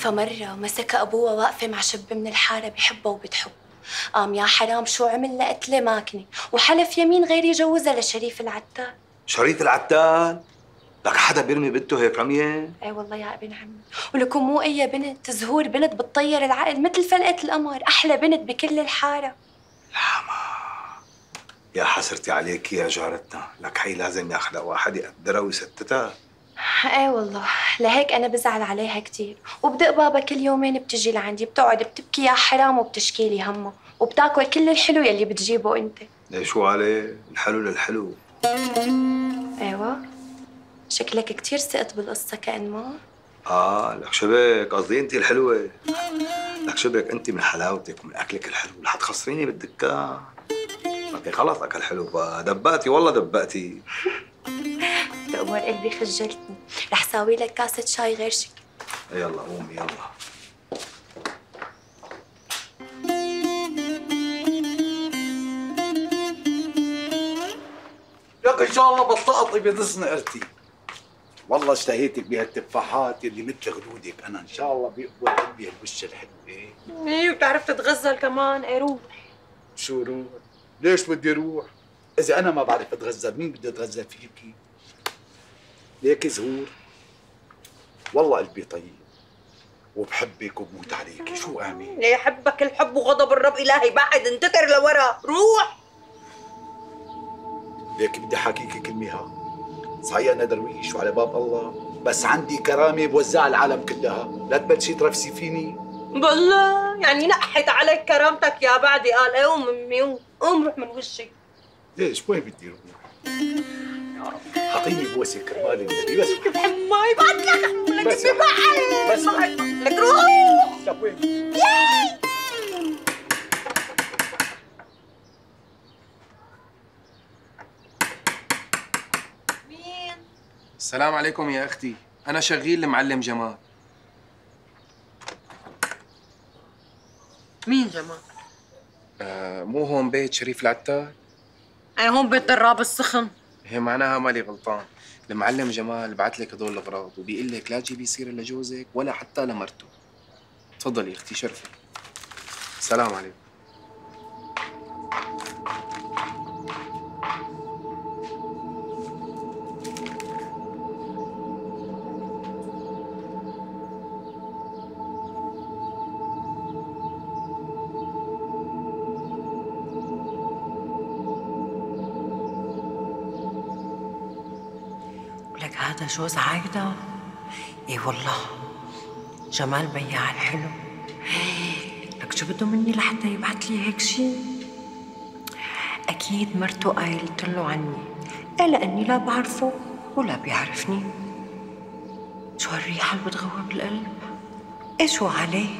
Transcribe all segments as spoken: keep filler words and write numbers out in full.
فمرة مسكها أبوها واقفة مع شب من الحارة بحبها وبتحب، قام يا حرام شو عمل لها قتلة ماكنة وحلف يمين غير يجوزها لشريف العتال. شريف العتال؟ لك حدا بيرمي بنته هيك رمية؟ اي والله يا ابن عمي، ولكم مو أي بنت، زهور بنت بتطير العقل مثل فلقة القمر، أحلى بنت بكل الحارة. الحما يا حسرتي عليك يا جارتنا، لك هي لازم ياخذها واحد يقدرها ويستتها. ايه والله، لهيك انا بزعل عليها كثير، وبدق بابا كل يومين بتجي لعندي بتقعد بتبكي يا حرام وبتشكي لي همه، وبتاكل كل الحلو يلي بتجيبه انت. ليه شو عليه؟ الحلو للحلو. ايوه، شكلك كثير ثقت بالقصه كأن ما. اه لك شبك، قصدي انت الحلوه. لك شبك انت من حلاوتك ومن اكلك الحلو رح تخسريني بالدكان. انت خلص اكل حلو بقى، دبقتي والله دبقتي. تأمر قلبي خجلتني، رح ساوي لك كاسة شاي غير شكل. يلا قومي يلا. لك ان شاء الله بطلقطي بيض صنقرتي. والله اشتهيتك بهالتفاحات اللي مثل خدودك، انا ان شاء الله بيقبل قلبي هالوش الحلو. ايه ايه وبتعرف تتغزل كمان. ايه روح. شو روح؟ ليش بدي روح؟ اذا انا ما بعرف اتغزل مين بده يتغزل فيكي؟ ليك زهور، والله قلبي طيب وبحبك وبموت عليكي، شو اعمل؟ ليه يحبك الحب وغضب الرب الهي، بعد انتتر لورا، روح. ليك بدي احاكيكي كلمه ها، صحيح انا درويش وعلى باب الله، بس عندي كرامه بوزعها العالم كلها، لا تبلشي ترفسي فيني. بالله يعني نقحت عليك كرامتك يا بعدي. قال ايه قوم امي قوم قوم روح من وشي. ليش وين بدي اروح؟ حطيني بوسه كرمال النبي بس. كيف بحب ماي بعد لك لك بس بس لك روح. لك وين؟ ياي مين؟ السلام عليكم يا اختي، انا شغيل المعلم جمال. مين جمال؟ آه مو هون بيت شريف العتال؟ اي هون بيت دراب السخن. هي معناها مالي غلطان، المعلم جمال بعت لك هدول الاغراض وبيقول لك لا تجيبي سيره لجوزك ولا حتى لمرته. تفضلي اختي شرفي. السلام عليكم. لك هذا جوز عايدة؟ اي والله جمال بياع الحلو. لك شو بده مني لحتى يبعث لي هيك شيء؟ اكيد مرته قايلت له عني، ايه لاني لا بعرفه ولا بيعرفني. شو هالريحه اللي بتغوى بالقلب؟ ايه شو عليه؟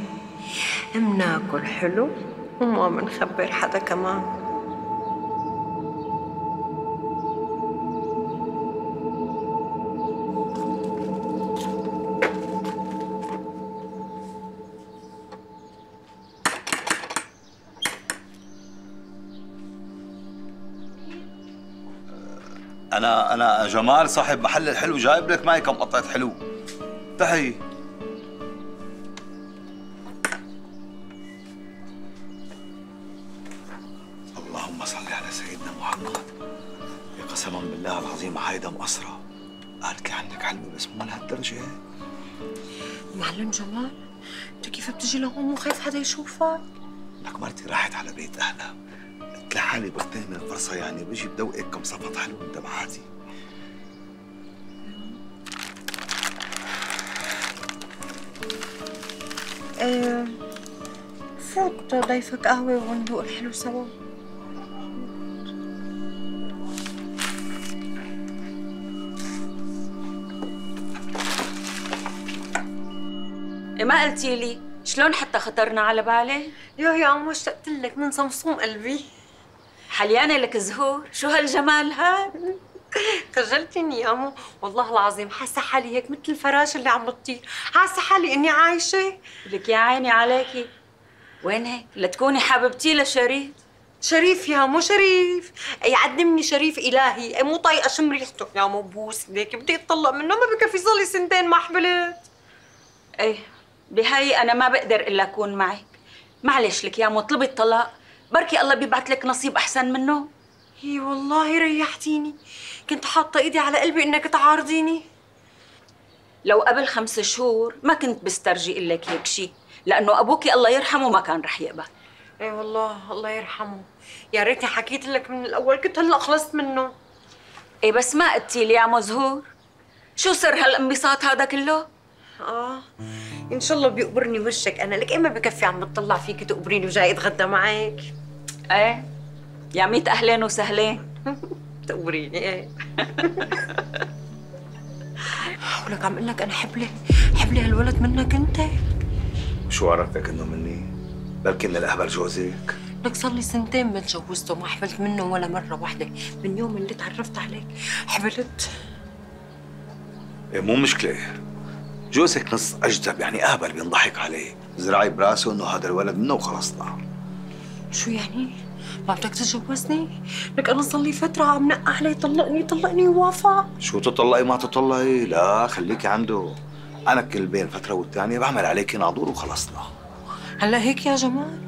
مناكل حلو وما منخبر حدا كمان. انا انا جمال صاحب محل الحلو، جايب لك معي كم قطعه حلو. تحي. اللهم صل على سيدنا محمد. يا قسما بالله العظيم هيدا مقصره، قالت لي عندك حلوه بس مو لهالدرجه. معلم جمال انت كيف بتجي لهون مو خايف حدا يشوفك؟ لك مرتي راحت على بيت اهلها، قلت لحالي بغتنم الفرصه، يعني بيجي بدوقك كم صفط حلو من دمعاتي. ايه فوت ضيفك قهوة وندوق الحلو سوا. إيه ما قلتي لي شلون حتى خطرنا على بالي؟ يا يا عمو اشتقت لك من صمصوم قلبي. حليانة لك زهور، شو هالجمال هاد؟ خجلتني يا عمو، والله العظيم حاسه حالي هيك مثل الفراش اللي عم بتطير، حاسه حالي اني عايشه. لك يا عيني عليكي، وين هيك؟ لتكوني حبيبتي لشريف. شريف يا مو شريف، يعدمني شريف الهي، مو طايقه شم ريحته يا مو بوس ليك بدي اتطلق منه، ما بكفي صار لي سنتين ما حبلت. ايه بهاي أنا ما بقدر إلا أكون معك. معلش لك يا مو اطلبي الطلاق، بركي الله بيبعت لك نصيب أحسن منه. هي والله ريحتيني، كنت حاطة إيدي على قلبي إنك تعارضيني. لو قبل خمس شهور ما كنت بسترجي لك هيك شيء، لأنه أبوكي الله يرحمه ما كان رح يقبل. اي والله الله يرحمه، يا ريتني حكيت لك من الأول، كنت هلا خلصت منه. إيه بس ما قلتي لي يا مزهور، شو سر هالانبساط هذا كله؟ آه إن شاء الله بيقبرني وشك، أنا لك إيه ما بكفي عم بتطلع فيك تقبريني وجاي أتغدى معك؟ إيه يا ميت أهلين وسهلين. تقبريني إيه. ولك عم اقول لك انا حبلي حبلي هالولد منك انت. شو عرفتك انه مني؟ بلكي من الاهبل جوزك. لك صار لي سنتين ما تجوزته، ما حبلت منه ولا مره واحده، من يوم اللي تعرفت عليك حبلت. إيه مو مشكله، جوزك نص اجدب يعني اهبل بينضحك عليه، زرعي براسه انه هذا الولد منه وخلصنا. شو يعني؟ ما بدك تتجوزني؟ لك انا صار لي فتره عم نقع عليه طلقني طلقني ووافق. شو تطلقي ما تطلقي؟ لا خليكي عنده، انا كل بين فتره والثانيه بعمل عليكي ناظور وخلصنا. هلا هيك يا جمال؟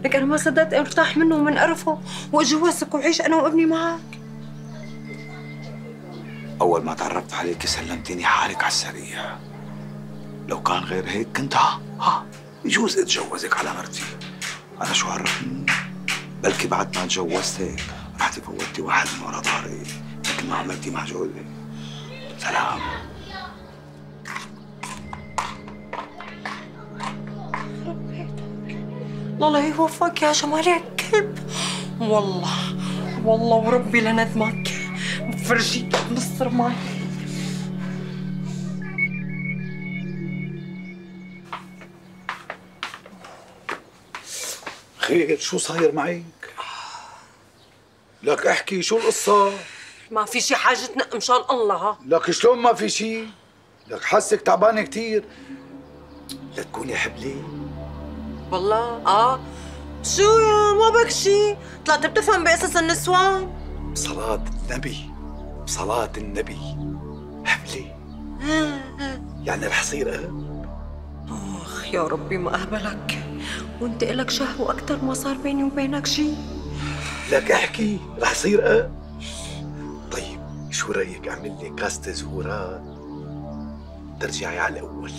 لك انا ما صدقت ارتاح منه ومن قرفه واتجوزك وعيش انا وابني معك. اول ما تعرفت عليكي سلمتيني حالك على السريع، لو كان غير هيك كنت ها ها يجوز اتجوزك على مرتي. انا شو عرفني؟ بلكي بعد ما تجوزتك رحتي فوتي واحد من ورا ظهري مثل ما عملتي مع جوزي. سلام. الله يوفقك يا جمال يا كلب. والله والله وربي لندمك بفرجيك بنص رماي. خير شو صاير معك؟ لك احكي شو القصة؟ ما في شي حاجة تنق مشان الله. ها لك شلون ما في شي؟ لك حسك تعبانة كتير، لا تكوني حبلي. والله اه شو يا ما بك شي؟ طلعت بتفهم بقصص النسوان؟ بصلاة النبي بصلاة النبي حبلي يعني رح صير أب؟ اخ يا ربي ما اهبلك، وانت إلك شهوة أكتر ما صار بيني وبينك شي. لك احكي رح صير أب؟ طيب شو رأيك أعمل لي كاسة زهورات ترجعي على الأول؟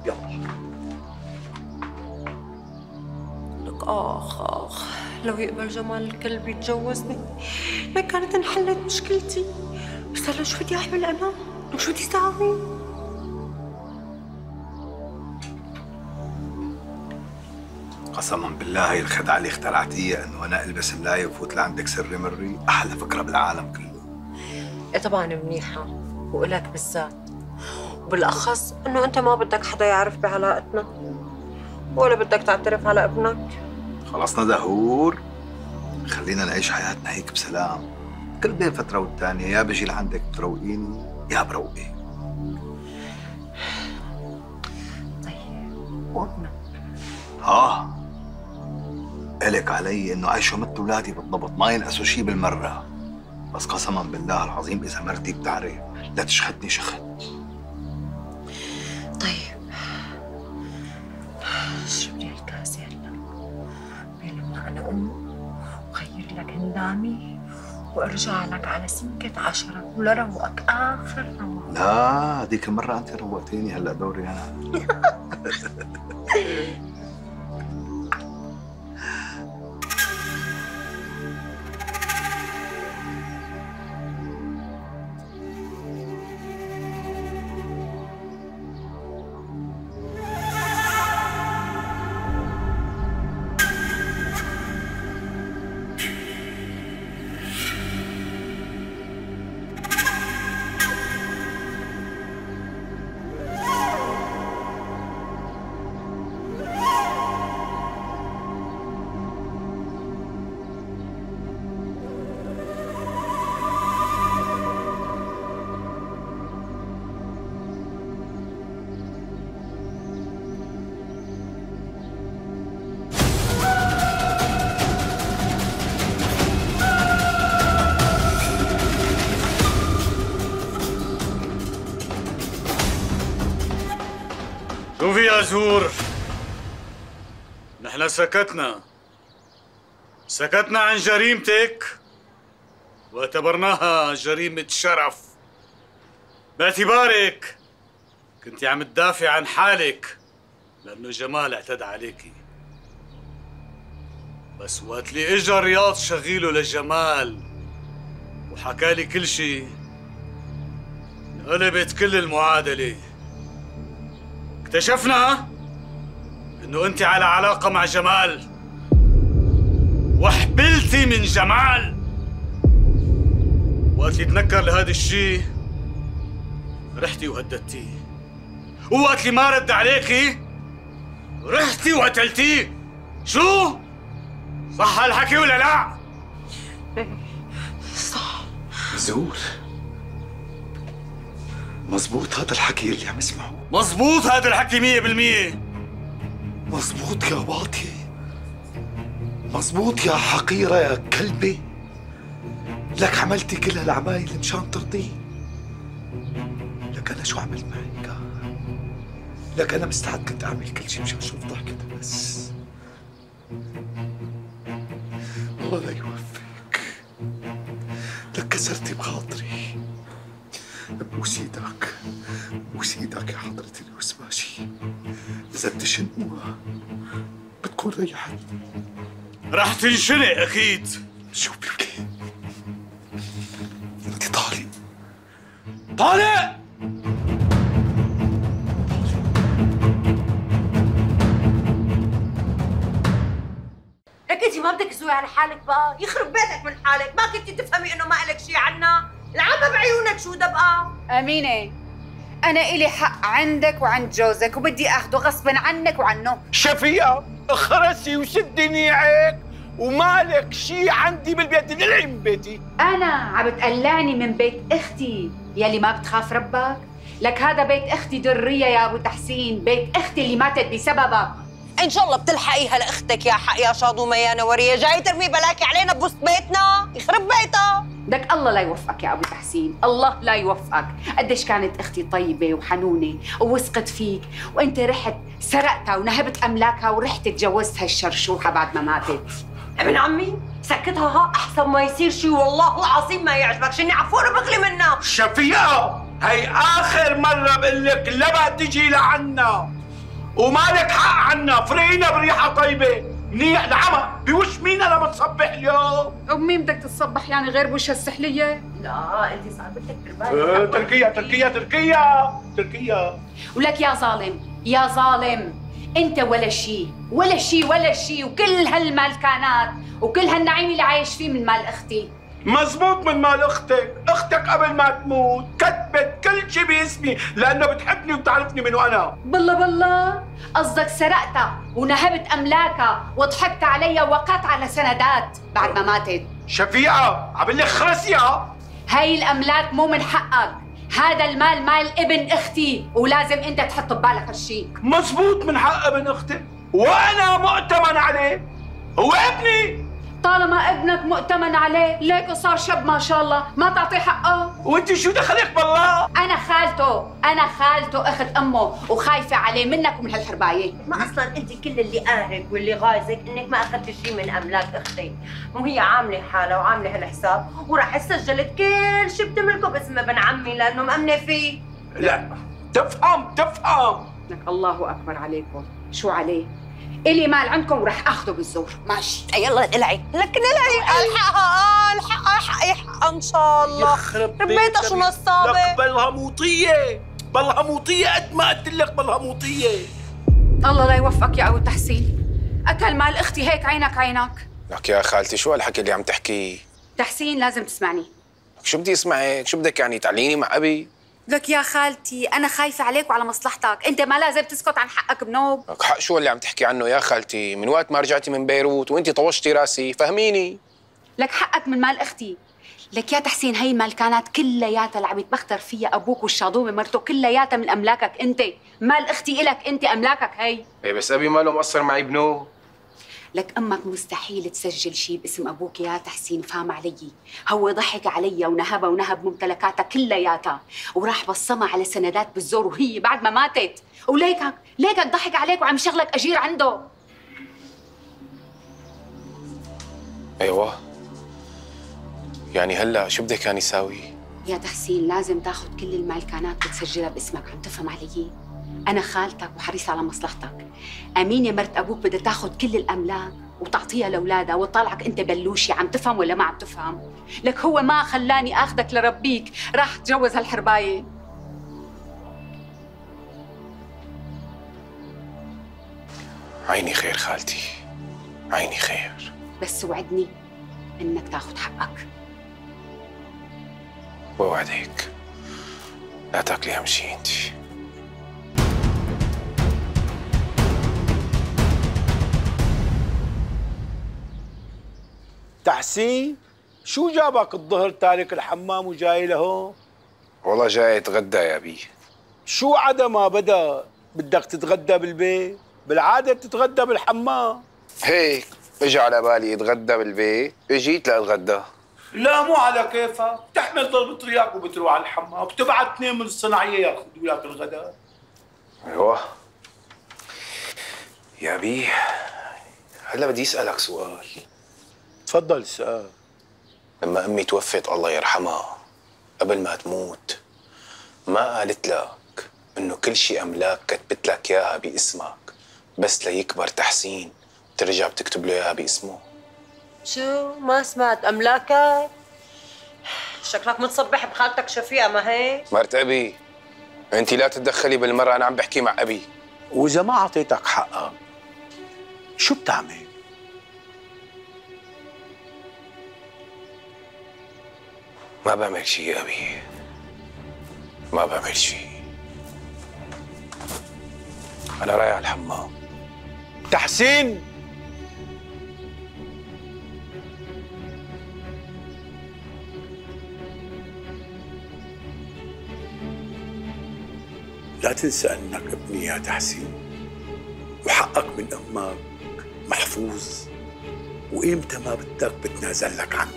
يلا. لك آخ آخ لو يقبل جمال الكلب يتجوزني لكانت انحلت مشكلتي، بس هلا شو بدي أعمل أنا؟ لك شو بدي ساوي؟ قسما بالله هي الخدعة اللي اخترعتيها انه انا البس ملاية وفوت لعندك سري مري، احلى فكرة بالعالم كله. ايه طبعا منيحة وإلك بالذات، وبالأخص إنه أنت ما بدك حدا يعرف بعلاقتنا ولا بدك تعترف على ابنك. خلصنا دهور، خلينا نعيش حياتنا هيك بسلام، كل بين فترة والتانية يا بجي لعندك بتروقيني يا بروقي. طيب وابنك؟ اه إلك علي انه عيشوا مثل اولادي بالضبط، ما ينقصوا شي بالمرة، بس قسما بالله العظيم اذا مرتي بتعرف لا تشخدني شخد. طيب اشرب لي الكاسة هلا بينما انا ام وغير لك هندامي وارجع لك على سنكة عشرة ولروقك اخر روق. لا هذيك المرة انت روقتيني، هلا دوري انا. يا زهور، نحن سكتنا سكتنا عن جريمتك واعتبرناها جريمة شرف، باعتبارك كنت عم تدافع عن حالك لأنه جمال اعتدى عليكي. بس وقت اللي اجا رياض شغيله لجمال وحكى لي كل شيء، انقلبت كل المعادلة. اكتشفنا انه انت على علاقة مع جمال وحبلتي من جمال. وقت اللي تنكر لهذا الشيء رحتي وهددتيه، ووقت اللي ما رد عليكي رحتي وقتلتيه. شو؟ صح هالحكي ولا لا؟ صح. زهور، مزبوط هذا الحكي اللي عم اسمعه؟ مزبوط هذا الحكي مية بالمية. مزبوط يا باطي، مزبوط يا حقيرة يا كلبة. لك عملتي كل هالعمايل مشان ترضيه. لك أنا شو عملت معك؟ لك أنا مستعد كنت أعمل كل شيء مشان أشوف ضحكتها بس. الله لا يوفقك. لك كسرتي بخاطري. بوس ايدك، بوس ايدك يا حضرة الوسباشي. إذا بتشنقوها بتكون ريحت. رح تنشنق أكيد. شو بك؟ أنت طالق طالق. لك انت ما بدك تزوي على حالك بقى، يخرب بيتك من حالك، ما كنتي تفهمي انه ما لك شيء عنا؟ العبها بعيونك شو ده بقى؟ أمينة، أنا إلي حق عندك وعند جوزك وبدي أخده غصبا عنك وعنه. شفيقة اخرسي وسدي نيعك ومالك شي عندي بالبيت، دلعي من بيتي. أنا عم بتقلعني من بيت أختي يلي ما بتخاف ربك؟ لك هذا بيت أختي درية يا أبو تحسين، بيت أختي اللي ماتت بسببك. ان شاء الله بتلحقيها لاختك يا حق يا شاضومه يا نوريه، جاي ترمي بلاكي علينا بوسط بيتنا، يخرب بيتها. بدك الله لا يوفقك يا ابو تحسين، الله لا يوفقك. قديش كانت اختي طيبه وحنونه ووثقت فيك، وانت رحت سرقتها ونهبت املاكها ورحت تجوزت هالشرشوحه بعد ما ماتت. ابن عمي سكتها ها احسن ما يصير شيء، والله العظيم ما يعجبك شني عفونه بغلي منها. شفيقة هي آخر مرة بقول لك لما تجي لعنا ومالك حق عنا، فرقينا بريحة طيبة. منيح العمى بوش مين لما تصبح اليوم؟ ومين بدك تتصبح يعني غير بوش هالسحلية؟ لا انت صاحبتك ترباية. اه تركيا تركيا تركيا تركيا. ولك يا ظالم يا ظالم، انت ولا شيء ولا شيء ولا شيء، وكل هالمالكانات وكل هالنعيم اللي عايش فيه من مال اختي. مزبوط من مال اختك، اختك قبل ما تموت كتبت كل شيء باسمي لانه بتحبني وبتعرفني من وانا. بالله بالله قصدك سرقتها ونهبت املاكها وضحكت عليها ووقعت على سندات بعد ما ماتت. شفيقة عبالي خرسيها. هاي الاملاك مو من حقك، هذا المال مال ابن اختي ولازم انت تحط ببالك هالشيء. مزبوط من حق ابن اختك وانا مؤتمن عليه، هو ابني. طالما ابنك مؤتمن عليه ليك صار شب ما شاء الله، ما تعطيه حقه. وانت شو دخلك بالله؟ انا خالته، انا خالته اخت امه وخايفه عليه منك ومن هالحربايه. ما اصلا انت كل اللي قاهرك واللي غايزك انك ما اخذتي شيء من املاك اختي، وهي عامله حالها وعامله هالحساب وراح سجلت كل شيء بتملكه باسم ابن عمي لانه مأمنه فيه. لا تفهم تفهم. لك الله اكبر عليكم، شو عليه؟ إلي مال عندكم وراح اخذه بالزور. ماشي يلا العي لك العي. الحقها الحقها حقي حقها ان شاء الله. يخرب ربيتها شو نصابه. لك بلها موطيه، بلها موطيه قد ما قلت لك بلها موطيه. الله لا يوفقك يا ابو تحسين، اكل مال اختي هيك عينك عينك. لك يا خالتي شو هالحكي اللي عم تحكيه؟ تحسين لازم تسمعني. شو بدي اسمعك؟ شو بدك يعني تعليني مع ابي؟ لك يا خالتي انا خايفه عليك وعلى مصلحتك، انت ما لازم تسكت عن حقك بنوب. لك حق شو اللي عم تحكي عنه يا خالتي؟ من وقت ما رجعتي من بيروت وانت طوشتي راسي، فهميني. لك حقك من مال اختي. لك يا تحسين هي المالكانات كلياتها اللي عم يتبختر فيها ابوك والشاضومه مرته كلياتها من املاكك انت، مال اختي الك انت، املاكك هي. ايه بس ابي ماله مقصر معي بنو. لك امك مستحيل تسجل شيء باسم ابوك يا تحسين، فهم علي؟ هو ضحك علي ونهبها ونهب ممتلكاتها كلياتها وراح بصمها على سندات بالزور وهي بعد ما ماتت، وليكك ليكك ضحك عليك وعم شغلك اجير عنده. ايوه يعني هلا شو بدك يعني ساوي؟ يا تحسين لازم تاخذ كل المالكانات وتسجلها باسمك، عم تفهم علي؟ أنا خالتك وحريصة على مصلحتك. أمينة مرت أبوك بدها تاخذ كل الأملاك وتعطيها لأولادها وتطلعك أنت بلوشي، عم تفهم ولا ما عم تفهم؟ لك هو ما خلاني آخذك لربيك، راح تجوز هالحرباية. عيني خير خالتي، عيني خير، بس وعدني إنك تاخذ حقك. بوعدك لا تاكلي أهم شي انت. تحسين شو جابك الظهر تارك الحمام وجاي لهون؟ والله جاي اتغدى يا بي. شو عدا ما بدا بدك تتغدى بالبيت؟ بالعادة بتتغدى بالحمام. هيك اجى على بالي اتغدى بالبيت، اجيت لاتغدى. لا مو على كيفك، بتحمل ضربة رياق وبتروح على الحمام، بتبعت اثنين من الصناعية ياخذوا لك الغداء. ايوه يا بي، هلا بدي اسألك سؤال. تفضل اسأل. لما امي توفت الله يرحمها قبل ما تموت ما قالت لك انه كل شيء املاك كتبت لك اياها باسمك بس ليكبر تحسين ترجع بتكتب له اياها باسمه؟ شو ما سمعت املاكك؟ شكلك متصبح بخالتك شفيقة ما هيك؟ مرت ابي انت لا تتدخلي بالمره، انا عم بحكي مع ابي. واذا ما اعطيتك حقك شو بتعمل؟ ما بعمل شيء يا ابي، ما بعمل شيء. انا رايح على الحمام. تحسين لا تنسى انك ابني يا تحسين، وحقك من امك محفوظ، وإمتى ما بدك بتنازل لك عنه،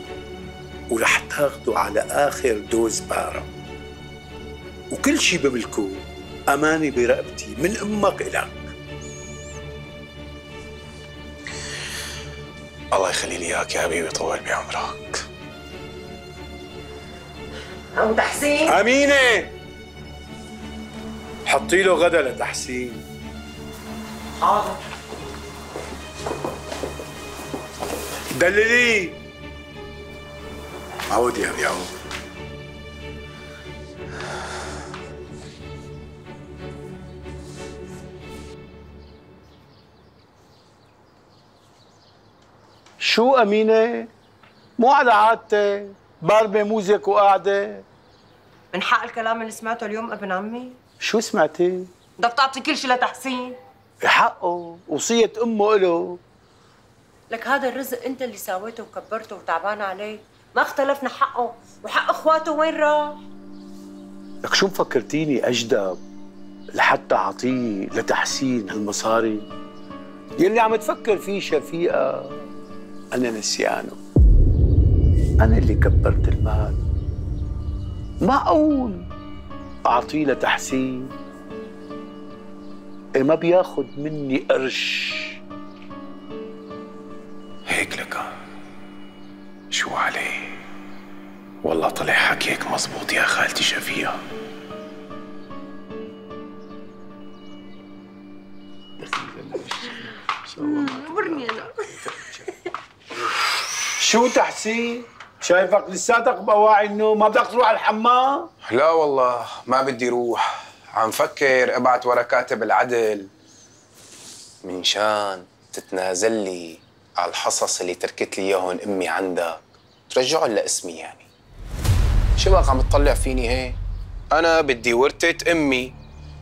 ورح تاخده على آخر دوز بارة، وكل شي بملكه أمانة برقبتي من أمك إلك. الله يخلي لي إياك يا حبيبي، طول بعمرك. أبو تحسين أمينة حطي له غدا لتحسين. حاضر. دللي عود يا ابي عود. شو أمينة؟ مو على عادتك، ضاربة موزك وقاعدة. من حق الكلام اللي سمعته اليوم ابن عمي؟ شو سمعتي؟ بدك تعطي كل شيء لتحسين. حقه، وصية أمه إله. لك هذا الرزق انت اللي ساويته وكبرته وتعبان عليه، ما اختلفنا حقه، وحق اخواته وين راح؟ لك شو مفكرتيني أجدب لحتى أعطيه لتحسين هالمصاري؟ يلي عم تفكر فيه شفيقة أنا نسيانه. أنا اللي كبرت المال. معقول أعطيه لتحسين؟ إيه ما بياخد مني قرش. هيك لك شو عليه؟ والله طلع حكيك مزبوط يا خالتي شفيقة. برني انا. شو تحسين؟ شايفك لساتك بواعي النوم، ما بدك تروح على الحمام؟ لا والله ما بدي روح، عم فكر ابعت ورا كاتب العدل من شان تتنازل لي على الحصص اللي تركت لي اياهم امي عندك، ترجعهم لاسمي يعني. شو بقى عم تطلع فيني هيك؟ انا بدي ورثة امي،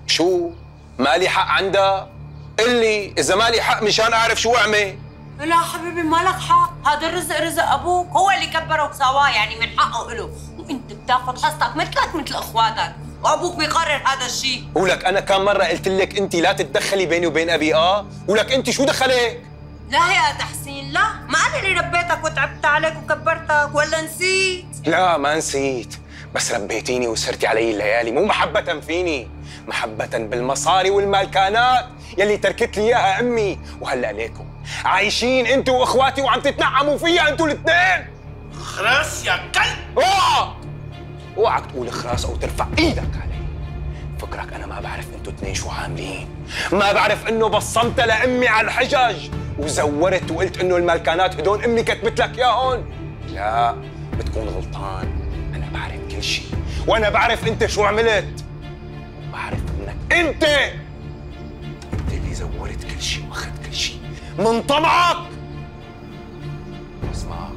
شو مالي حق عندها؟ قل لي اذا مالي حق مشان اعرف شو اعمل. لا حبيبي مالك حق، هذا الرزق رزق ابوك، هو اللي كبره وسواه، يعني من حقه له، وانت بتاخذ حصتك مثلك مثل اخواتك، وابوك بيقرر هذا الشيء. ولك انا كم مره قلت لك انت لا تتدخلي بيني وبين ابي؟ اه ولك انت شو دخلك؟ لا يا تحسين لا، ما أنا اللي ربيتك وتعبت عليك وكبرتك، ولا نسيت؟ لا ما نسيت، بس ربيتيني وسرتي علي الليالي، مو محبة فيني، محبة بالمصاري والمالكانات يلي تركت لي اياها امي. وهلا ليكم عايشين انتوا واخواتي وعم تتنعموا فيها انتوا الاثنين. خرس يا كلب. اوعى اوعك تقول خراس او ترفع ايدك علي. فكرك انا ما بعرف انتوا اثنين شو عاملين؟ ما بعرف انه بصمت لامي على الحجج وزورت وقلت انه المالكانات هدول امي كتبت لك ياهن؟ لا بتكون غلطان، انا بعرف كل شيء، وانا بعرف انت شو عملت. بعرف انك انت انت اللي زورت كل شيء واخذت كل شيء من طمعك. اسمعك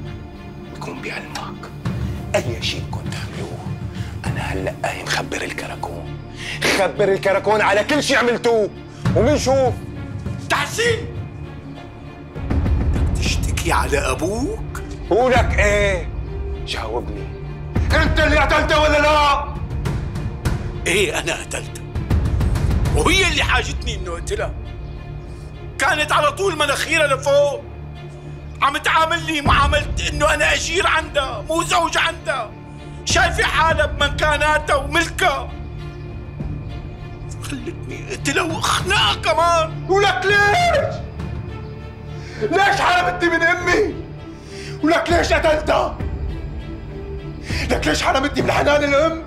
بكون بعلمك اي شيء كنت تعملوه. انا هلا قايم خبر الكراكون، خبر الكراكون على كل شيء عملتوه وبنشوف. تحسين بدك تشتكي على ابوك؟ ولك ايه؟ جاوبني، انت اللي قتلته ولا لا؟ ايه انا قتلتها، وهي اللي حاجتني انه اقتلها. كانت على طول مناخيرها لفوق، عم تعاملني معاملة انه انا اجير عندها مو زوج عندها، شايفة حالها بمكاناتها وملكها. خلتني اقتلها واخنقها كمان. ولك ليش؟ ليش حرمتني من امي؟ ولك ليش قتلتها؟ لك ليش حرمتني من حنان الام؟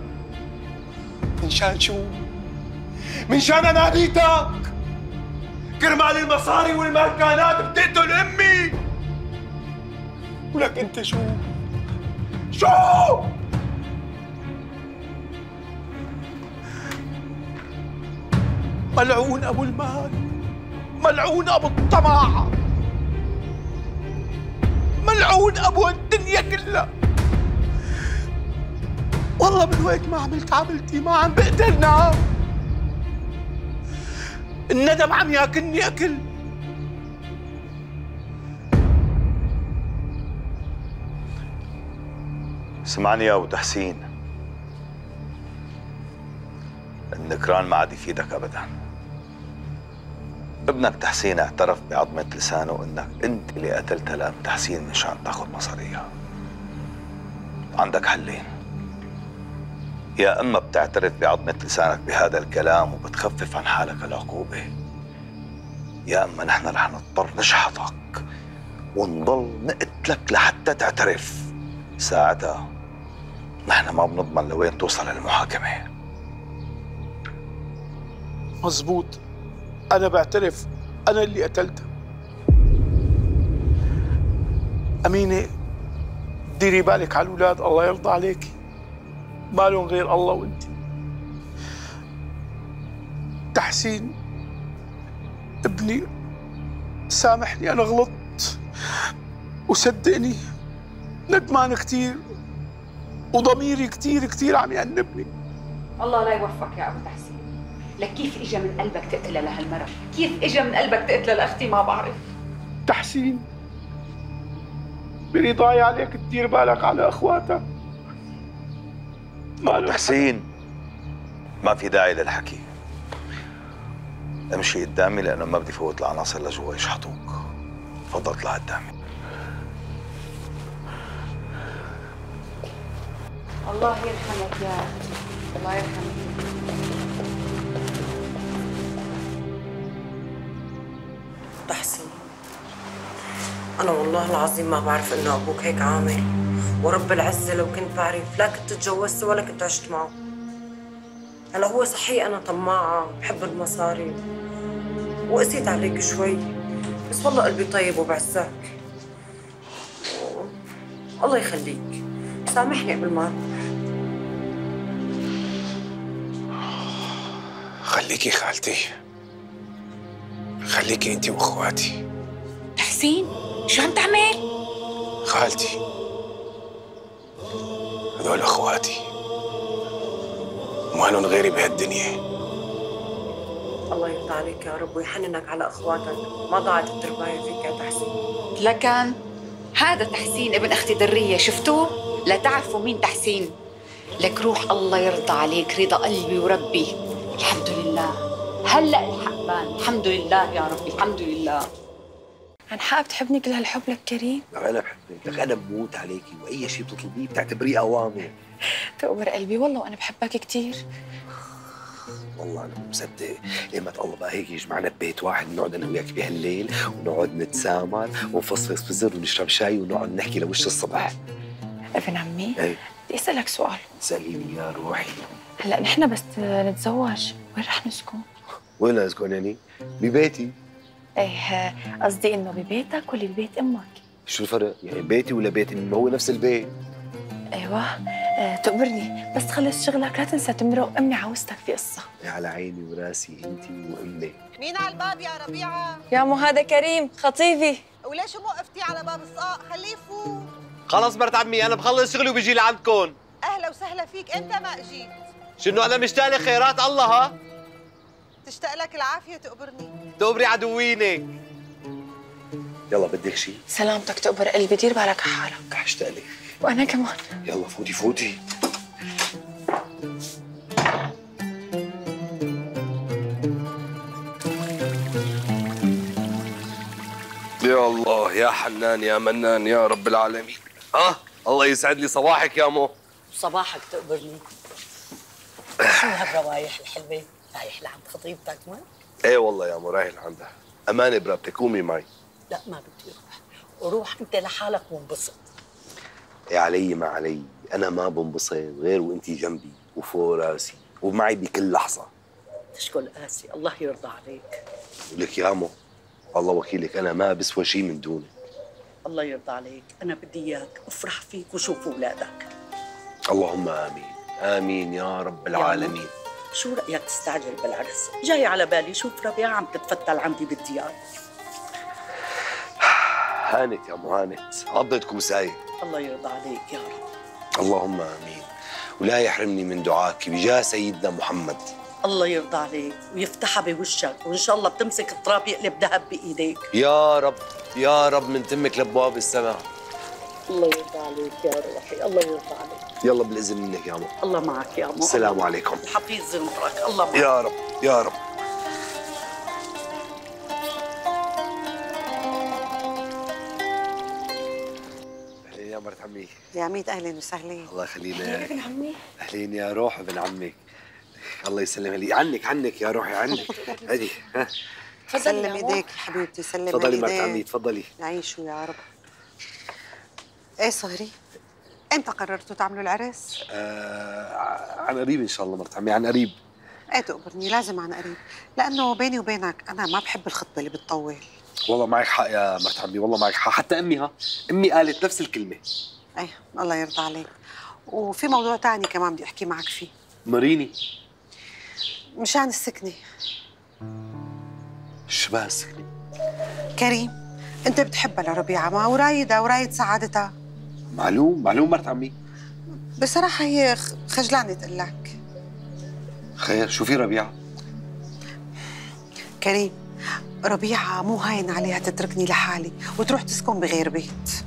من شان شو؟ من شان انانيتك؟ كرمال المصاري والمالكانات بتقتل امي؟ ولك انت شو؟ شو؟ ملعون ابو المال، ملعون ابو الطمع، ملعون ابو الدنيا كلها. والله من وقت ما عملت عملتي ما عم بقدر نام، الندم عم ياكلني اكل. اسمعني يا ابو تحسين، النكران ما عاد يفيدك ابدا. ابنك تحسين اعترف بعظمة لسانه انك انت اللي قتلتها لام تحسين مشان تاخذ مصاريها. عندك حلين، يا اما بتعترف بعظمة لسانك بهذا الكلام وبتخفف عن حالك العقوبة، يا اما نحن رح نضطر نشحطك ونضل نقتلك لحتى تعترف. ساعتها نحن ما بنضمن لوين توصل المحاكمة. مزبوط، أنا بعترف أنا اللي قتلتها. أمينة ديري بالك على الأولاد، الله يرضى عليكي، مالهم غير الله وأنت. تحسين ابني سامحني، أنا غلطت وصدقني ندمان كثير وضميري كثير كثير عم يأنبني. الله لا يوفقك يا أبو تحسين. لك كيف اجى من قلبك تقتلها لهالمرة؟ كيف اجى من قلبك تقتلها لاختي؟ ما بعرف. تحسين برضاي عليك تدير بالك على اخواتك. ما تحسين ما في داعي للحكي، امشي قدامي لانه ما بدي فوت العناصر لجوا يشحطوك. تفضل اطلع قدامي. الله يرحمك يا أختي، الله يرحمك. تحسين أنا والله العظيم ما بعرف إنه أبوك هيك عامل، ورب العزة لو كنت بعرف لا كنت تجوزت ولا كنت عشت معه. هلا هو صحيح أنا طماعة بحب المصاري وقسيت عليك شوي، بس والله قلبي طيب وبعزك. الله يخليك، سامحني قبل ما خليكي خالتي، خليكي انتي واخواتي. تحسين شو عم تعمل؟ خالتي هذول اخواتي، ما لهم غيري بهالدنيا. الله يرضى عليك يا رب ويحننك على اخواتك، ما ضاعت التربايه فيك يا تحسين. لكن هذا تحسين ابن اختي دريه، شفتوه؟ لا تعرفوا مين تحسين. لك روح الله يرضى عليك، رضا قلبي وربي. الحمد لله هلا الحق بان، الحمد لله يا ربي، الحمد لله. عن حق بتحبني كل هالحب لك كريم؟ لك انا بحبك، لك انا بموت عليكي واي شيء بتطلبيه بتعتبريه اوامر. تقبر قلبي والله وانا بحبك كثير. والله انا مو مصدق ايمت الله بقى هيك يجمعنا ببيت واحد نقعد انا وياك بهالليل ونقعد نتسامر ونفصفص بزر ونشرب شاي ونقعد نحكي لوش الصبح. ابن عمي ايه بدي اسالك سؤال. سأليني يا روحي. هلا نحن بس نتزوج وين رح نسكن؟ وين اسكن يعني؟ ببيتي. ايه قصدي انه ببيتك ولا ببيت امك؟ شو الفرق؟ يعني بيتي ولا بيتي؟ ما هو نفس البيت. ايوه اه تقبرني بس تخلص شغلك لا تنسى تمرق امي عاوزتك في قصه. على عيني وراسي انتي وامي. مين على الباب يا ربيعه؟ يا مو هذا كريم خطيبي. وليش مو وقفتي على باب الصاق؟ خليه يفوت. خلص مرت عمي انا بخلص شغلي وبيجي لعندكم. اهلا وسهلا فيك، انت ما اجيت. شنو انا مشتاق لك خيرات الله ها؟ تشتاق لك العافيه تقبرني. تقبري عدوينك. يلا بدك شيء؟ سلامتك تقبر قلبي، دير بالك على حالك. رح اشتاق لك. وانا كمان. يلا فوتي فوتي. يا الله يا حنان يا منان يا رب العالمين. اه الله يسعد لي صباحك يا مو. صباحك تقبرني. شو هالروايح الحلوه؟ رايح لعند خطيبتك ما؟ ايه والله يا مو رايح لعندها. امانه برابتك قومي معي. لا ما بدي اروح، وروح انت لحالك وانبسط. يا علي ما علي، انا ما بنبسط غير وانتي جنبي وفوق راسي ومعي بكل لحظه. تشكل قاسي، الله يرضى عليك. ولك يا مو الله وكيلك انا ما بسوى شيء من دونك. الله يرضى عليك، انا بدي اياك افرح فيك وشوف اولادك. اللهم امين امين يا رب العالمين. شو رايك تستعجل بالعرس؟ جاي على بالي شوف ربيعه عم تتفتل عندي بالديار. هانت يا مو هانت، عضت كوسايه. الله يرضى عليك يا رب. اللهم امين، ولا يحرمني من دعائك بجاه سيدنا محمد. الله يرضى عليك ويفتحها بوشك، وان شاء الله بتمسك التراب يقلب ذهب بايديك. يا رب يا رب من تمك لابواب السماء. الله يرضى عليك يا روحي، الله يرضى عليك. يلا بالاذن منك يا مو. الله معك يا مو. السلام عليكم. الحفيظ زنطرك، الله معك. يا رب يا رب. اهلين يا مرت عمي. يا عميد اهلا وسهلا. الله يخلينا. اهلين ابن عمي. اهلين يا روح ابن عمك. الله يسلم لي عنك عنك يا روحي عنك. هدي ها سلم ايديك حبيبتي، سلم ايديك. تفضلي مرت عمي تفضلي. يعيشوا يا رب. ايه صهري؟ امتى قررتوا تعملوا العرس؟ آه عن قريب ان شاء الله مرت عمي، عن قريب. ايه تقبرني لازم عن قريب، لانه بيني وبينك انا ما بحب الخطبه اللي بتطول. والله معك حق يا مرت عمي، والله معك حق، حتى امي ها امي قالت نفس الكلمه. ايه الله يرضى عليك. وفي موضوع ثاني كمان بدي احكي معك فيه. مريني. مشان السكنه. شو بها السكنه؟ كريم انت بتحبها لربيعه ما ورايدها ورايد سعادتها. معلوم معلوم مرت عمي. بصراحه هي خجلانه تقول لك. خير شو في ربيعه؟ كريم ربيعه مو هاين عليها تتركني لحالي وتروح تسكن بغير بيت.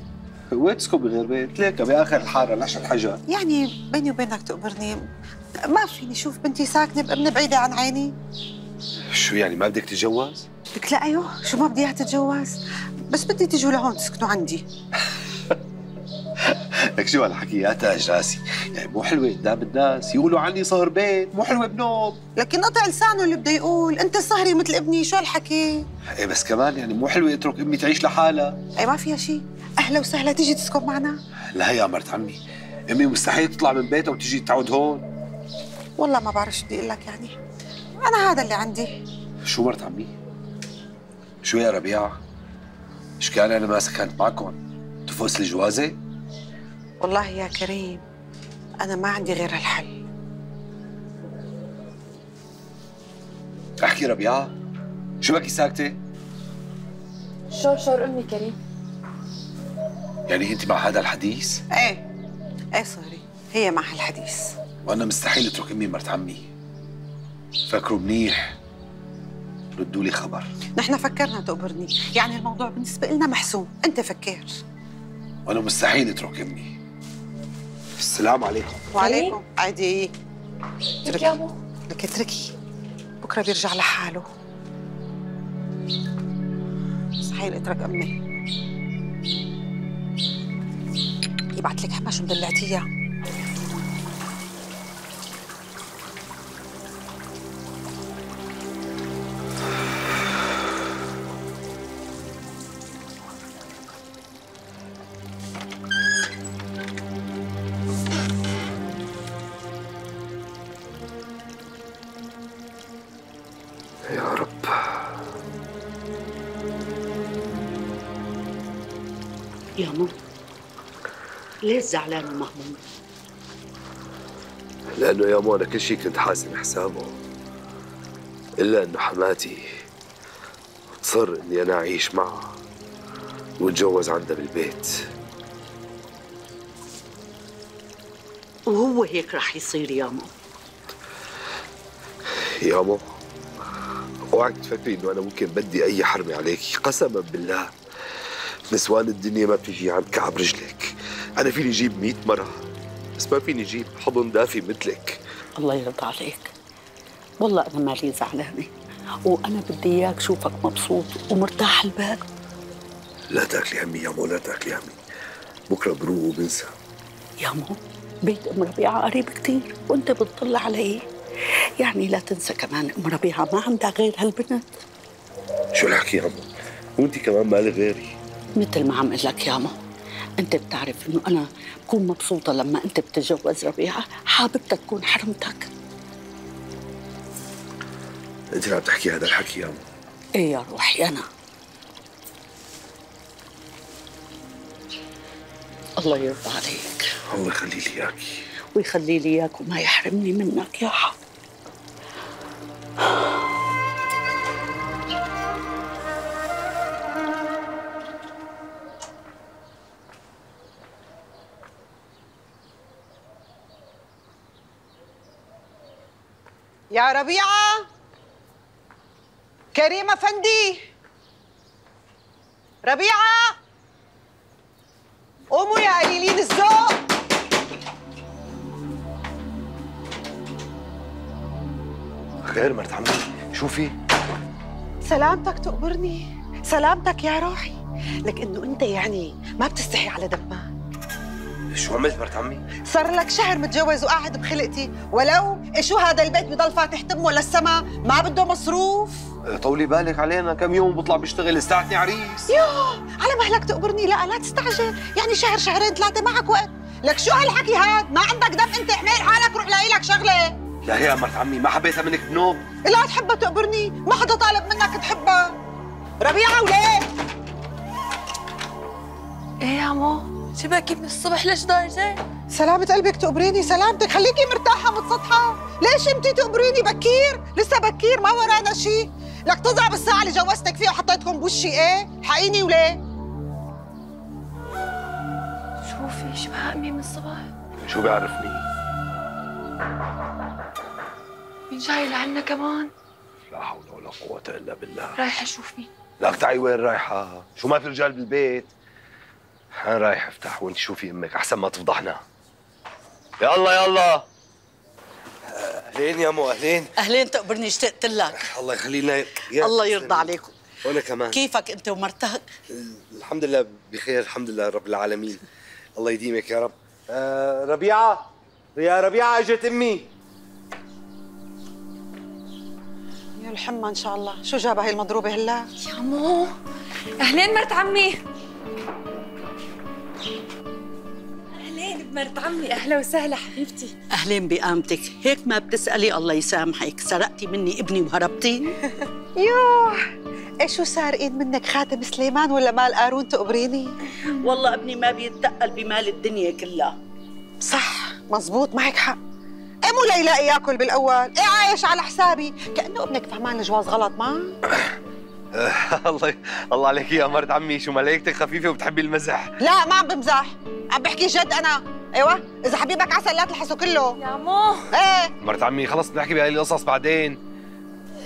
وين تسكن بغير بيت؟ ليك باخر الحاره نعشر حجر. يعني بيني وبينك تقبرني ما فيني شوف بنتي ساكنه بابن بعيده عن عيني. شو يعني ما بدك تتجوز؟ لك لا ايوه شو ما بدي اياها تتجوز، بس بدي تيجوا لهون تسكنوا عندي. لك شو هالحكي يا تاج راسي، يعني مو حلوه قدام الناس يقولوا عني صهر بيت، مو حلوه بنوب. لكن قطع لسانه اللي بده يقول، انت صهري مثل ابني، شو هالحكي؟ ايه بس كمان يعني مو حلوه اترك امي تعيش لحالها. ايه ما فيها شيء، اهلا وسهلا تيجي تسكن معنا. لا يا مرت عمي، امي مستحيل تطلع من بيتها وتيجي تعود هون. والله ما بعرف شو بدي اقول لك، يعني انا هذا اللي عندي. شو مرت عمي؟ شو يا ربيعه؟ ايش كان انا ما سكنت معكم؟ تفوز الجوازه؟ والله يا كريم أنا ما عندي غير هالحل. احكي ربيعة، شو بكي ساكتة؟ شور شور أمي كريم. يعني أنت مع هذا الحديث؟ إيه إيه صهري، هي مع هالحديث. وأنا مستحيل أترك أمي مرت عمي. فكروا منيح، ردوا لي خبر. نحن فكرنا تقبرني، يعني الموضوع بالنسبة لنا محسوم، أنت فكر. وأنا مستحيل أترك أمي. السلام عليكم. وعليكم. عادي. لك يا أبو. لك اتركي، بكرة بيرجع لحاله. صحيح هي اللي اترك امي. يبعت لك حما شو مدلعتيها. يا رب. يا ماما ليش زعلان ومهموم؟ لأنه يا مو أنا كل شيء كنت حاسب حسابه، إلا إنه حماتي تصر إني أنا أعيش معها واتجوز عندها بالبيت. وهو هيك رح يصير يا ماما. يا مو اوعك تفكري إنه أنا ممكن بدي أي حرمة عليكي، قسما بالله نسوان الدنيا ما بتيجي عند كعب رجلك. أنا فيني أجيب مئة مرة بس ما فيني أجيب حضن دافي مثلك. الله يرضى عليك. والله أنا مالي زعلانة، وأنا بدي إياك شوفك مبسوط ومرتاح البال. لا تاكلي همي يا مو، لا تاكلي همي، بكرة بروق وبنسى. يا مو بيت أم ربيعة قريب كتير وأنت بتطل عليه، يعني لا تنسى كمان أم ربيعة ما عندها غير هالبنت. شو الحكي يا مو؟ وأنت كمان مالي غيري. مثل ما عم اقول لك يا ما، انت بتعرف انه انا بكون مبسوطه لما انت بتتجوز ربيعه، حاببتها تكون حرمتك. انت اللي عم تحكي هذا الحكي يا مو؟ ايه يا روحي انا. الله يرضى عليك. الله يخلي لي اياكي. ويخلي لي اياك وما يحرمني منك يا حق. يا ربيعة، كريم أفندي، ربيعة، قوموا يا قليلين الذوق. خير مرت عمي، شو في؟ سلامتك تقبرني، سلامتك يا روحي، لك إنه أنت يعني ما بتستحي على دمك. شو عملت مرت عمي؟ صار لك شهر متجوز وقاعد بخلقتي، ولو شو هذا البيت بضل فاتح تمه للسما، ما بده مصروف. طولي بالك علينا، كم يوم بطلع بشتغل استعتني عريس. يوه على مهلك تقبرني، لا لا تستعجل، يعني شهر شهرين ثلاثة معك وقت. لك شو هالحكي هاد؟ ما عندك دم انت، احمل حالك روح لاقي لك شغلة. لا يا مرت عمي ما حبيتها منك بنوم. لا تحبها تقبرني، ما حدا طالب منك تحبها. ربيعة وليه؟ ايه يا عمو؟ شبكي من الصبح ليش ضايجة؟ سلامة قلبك تقبريني، سلامتك، خليكي مرتاحة متسطحة. ليش انتي تقبريني بكير؟ لسه بكير ما ورانا شيء. لك تزعب الساعة اللي جوزتك فيها وحطيتكم بوشي ايه؟ حقيني وليه؟ شوفي شو امي من الصبح؟ شو بيعرفني؟ مين جاي لعنا كمان؟ لا حول ولا قوة إلا بالله. رايحة شوف مين. لك تعي وين رايحة؟ شو ما في رجال بالبيت؟ أنا رايح افتح وانت شوفي امك احسن ما تفضحنا. يلا يلا. اهلين يا مو، اهلين. اهلين تقبرني، اشتقت لك. الله يخلي لنا. الله يرضى عليكم. وانا كمان. كيفك انت ومرتك؟ الحمد لله بخير، الحمد لله رب العالمين. الله يديمك يا رب. آه ربيعة، يا ربيعة اجت امي. يا الحمى ان شاء الله، شو جابها هي المضروبة هلا؟ يا مو، اهلين مرت عمي. اهلين بمرت عمي، اهلا وسهلا حبيبتي. اهلين بقامتك، هيك ما بتسألي الله يسامحك، سرقتي مني ابني وهربتي؟ يوه، ايه شو صار ايد منك، خاتم سليمان ولا مال قارون تقبريني؟ والله ابني ما بيتقل بمال الدنيا كلها. صح، مزبوط، معك حق. ايه مو ليلاقي ياكل بالاول، ايه عايش على حسابي، كأنه ابنك فهمان الجواز غلط ما؟ الله الله عليك يا مرت عمي، شو ملايكتك خفيفة وبتحبي المزح. لا ما عم بمزح، عم بحكي جد انا. ايوه، اذا حبيبك عسل لا تلحسه كله. يا مو. ايه مرت عمي خلص بنحكي بهاي القصص بعدين.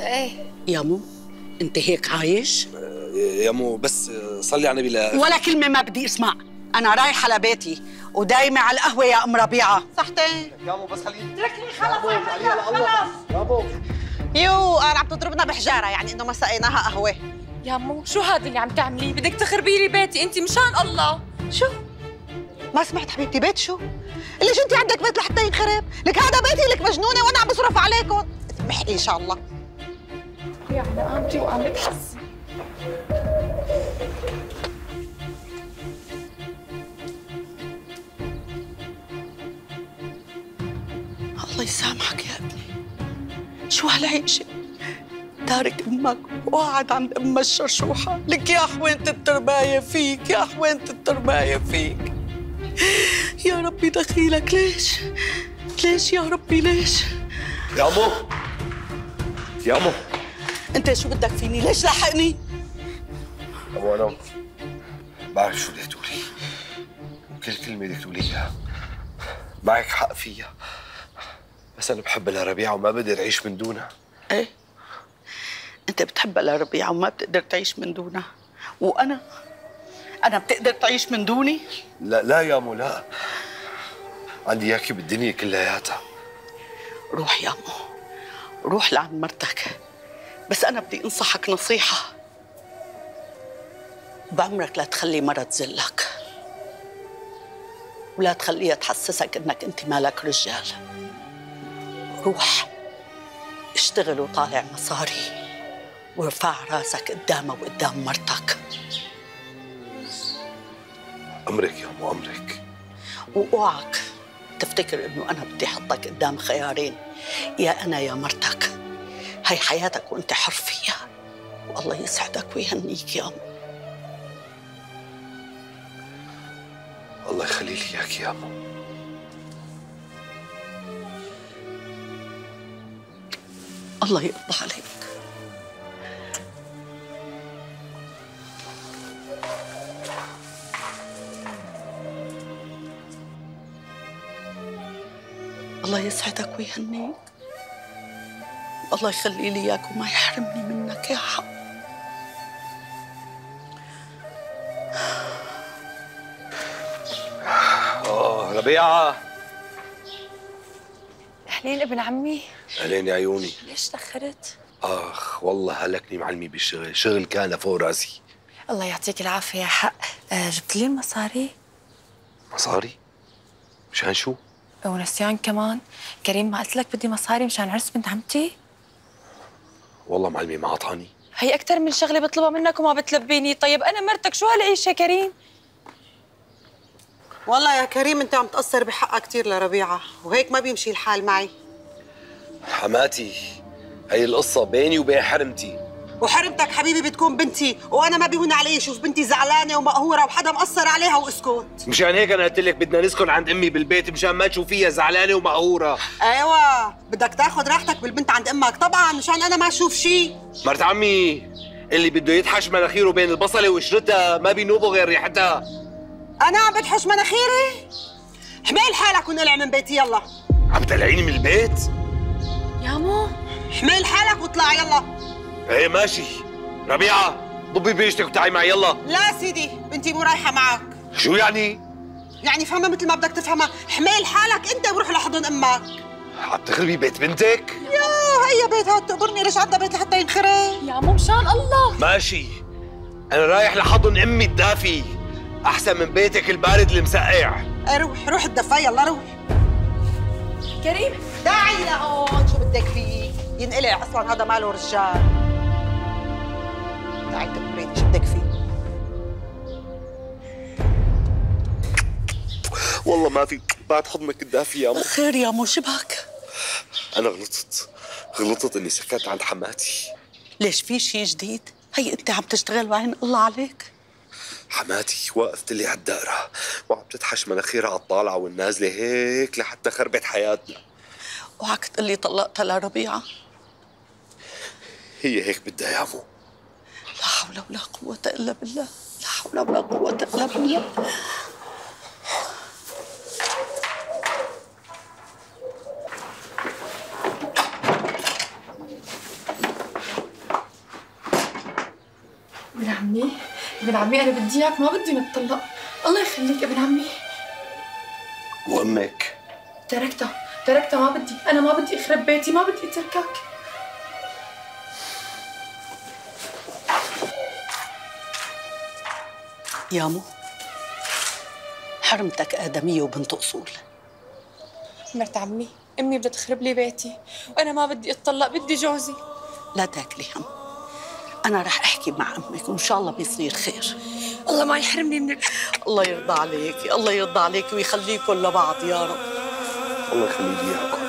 ايه يا مو، انت هيك عايش؟ يا مو بس صلي على النبي. لا ولا كلمة ما بدي اسمع، أنا رايحة لبيتي ودايمة على القهوة يا أم ربيعة. صحتين. يا مو بس خليني. اتركني خلص خلص. يو، انا عم تضربنا بحجارة، يعني انه ما سقيناها قهوة. يا مو شو هذا اللي عم تعمليه؟ بدك تخربي لي بيتي انت مشان الله. شو؟ ما سمعت حبيبتي؟ بيت شو؟ ليش انت عندك بيت لحتى ينخرب؟ لك هذا بيتي، لك مجنونه وانا عم بصرف عليكم. اسمحي ان شاء الله. يا على قامتي وعم بتحس. الله يسامحك يا ابني. شو هالعيشة؟ تارك امك وقاعد عند امها الشرشوحة. لك يا حوينة الترباية فيك، يا حوينة الترباية فيك. يا ربي دخيلك. ليش؟ ليش يا ربي ليش؟ يا امو يا امو انت شو بدك فيني؟ ليش لاحقني؟ امو انا بعرف شو بدك تقولي، وكل كلمة بدك تقوليها معك حق فيها، بس انا بحب لربيعة وما بقدر اعيش من دونها. ايه انت بتحبها لربيعة وما بتقدر تعيش من دونها، وانا انا بتقدر تعيش من دوني؟ لا لا يا امو لا، عندي اياكي بالدنيا كلياتها. روح يا امو، روح لعند مرتك، بس انا بدي انصحك نصيحة. بعمرك لا تخلي مرة تذلك، ولا تخليها تحسسك انك انت مالك رجال. روح اشتغل وطالع مصاري، وارفع راسك قدامها وقدام مرتك. امرك يا امو امرك. واوعك تفتكر انه انا بدي احطك قدام خيارين، يا انا يا مرتك. هي حياتك وانت حر فيها، والله يسعدك ويهنيك يا امو. الله يخلي لي اياك يا امو. الله يرضى عليك. الله يسعدك ويهنيك، الله يخلي لي اياك وما يحرمني منك يا حق. اه ربيعة. اهلين ابن عمي. اهلين يا عيوني. ليش تأخرت؟ اخ والله هلكني معلمي بالشغل، شغل كان فوق راسي. الله يعطيك العافية يا حق. آه جبت لي المصاري؟ مصاري؟ مشان شو؟ ونسيان كمان. كريم ما قلت لك بدي مصاري مشان عرس بنت عمتي؟ والله معلمي ما عطاني. هي أكثر من شغلة بطلبها منك وما بتلبيني. طيب أنا مرتك شو هالعيشة يا كريم؟ والله يا كريم انت عم تقصر بحقها كثير لربيعة، وهيك ما بيمشي الحال معي. حماتي هي القصة بيني وبين حرمتي. وحرمتك حبيبي بتكون بنتي، وانا ما بيهون علي شوف بنتي زعلانه ومقهوره وحدا مقصر عليها واسكت. مشان هيك انا قلت لك بدنا نسكن عند امي بالبيت مشان ما تشوفيها زعلانه ومقهوره. ايوه بدك تاخذ راحتك بالبنت عند امك طبعا مشان انا ما اشوف شيء. مرت عمي اللي بده يتحش مناخيره بين البصله وقشرتها ما بينوبه غير ريحتها. انا عم بتحش مناخيري؟ حميل حالك ونقلع من بيتي يلا. عم تقلعيني من البيت؟ يا مو حميل حالك واطلع يلا. ايه ماشي. ربيعة ضبي بيشتك وتعي معي يلا. لا سيدي بنتي مو رايحة معك. شو يعني؟ يعني فهمها مثل ما بدك تفهمها، حميل حالك انت وروح لحضن امك. عم تخربي بيت بنتك؟ يا هي بيتها تقبرني، ليش عندها بيت لحتى ينخرب؟ يا مو مشان الله. ماشي انا رايح لحضن امي الدافي احسن من بيتك البارد المسقع. ايه روح روح الدفا يلا روح. كريم داعي لهون شو بدك فيه؟ ينقلع اصلا هذا ماله رجال. داعي تقبريني شو بدك فيه؟ والله ما في بعد حضنك الدافي يا مو. خير يا مو شبهك؟ انا غلطت غلطت اني سكت عند حماتي. ليش في شيء جديد؟ هي انت عم تشتغل وعين الله عليك. حماتي وقفت لي على الدائرة وعم تتحش مناخيرها على الطالعة والنازلة هيك لحتى خربت حياتنا. اوعك تقول لي طلقتها لربيعة. هي هيك بدها يا مو. لا حول ولا قوة إلا بالله، لا حول ولا قوة إلا بالله. ابن عمي ابن عمي أنا بدي إياك، ما بدي نتطلق. الله يخليك ابن عمي. وأمك؟ تركتها تركتها ما بدي، أنا ما بدي أخرب بيتي، ما بدي أتركك. يامو حرمتك آدمية وبنت أصول. مرت عمي، أمي بدها تخرب لي بيتي وأنا ما بدي أتطلق، بدي جوزي. لا تاكلي هم، أنا رح أحكي مع أمك وإن شاء الله بيصير خير. الله ما يحرمني من الله يرضى عليكي، الله يرضى عليكي ويخليكم لبعض يا رب. الله يخلي لي إياكم.